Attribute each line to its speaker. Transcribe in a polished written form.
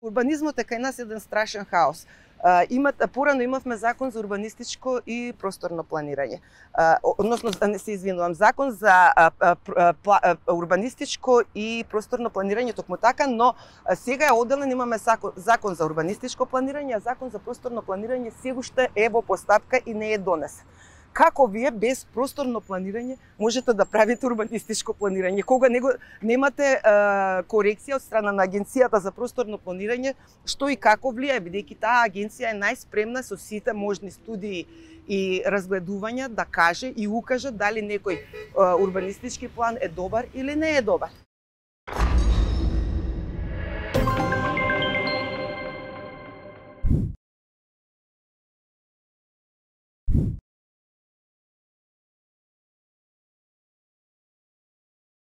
Speaker 1: Урбанизмот е кај нас еден страшен хаос. Порано имавме закон за урбанистичко и просторно планирање. Односно, не се извинувам, закон за урбанистичко и просторно планирање токму така, но сега е одделен, имаме закон за урбанистичко планирање, а закон за просторно планирање сегуште е во постапка и не е донесен. Како вие без просторно планирање можете да правите урбанистичко планирање, кога немате корекција од страна на Агенцијата за просторно планирање, што и како влијае, бидејќи таа агенција е најспремна со сите можни студии и разгледувања да каже и укаже дали некој урбанистички план е добар или не е добар.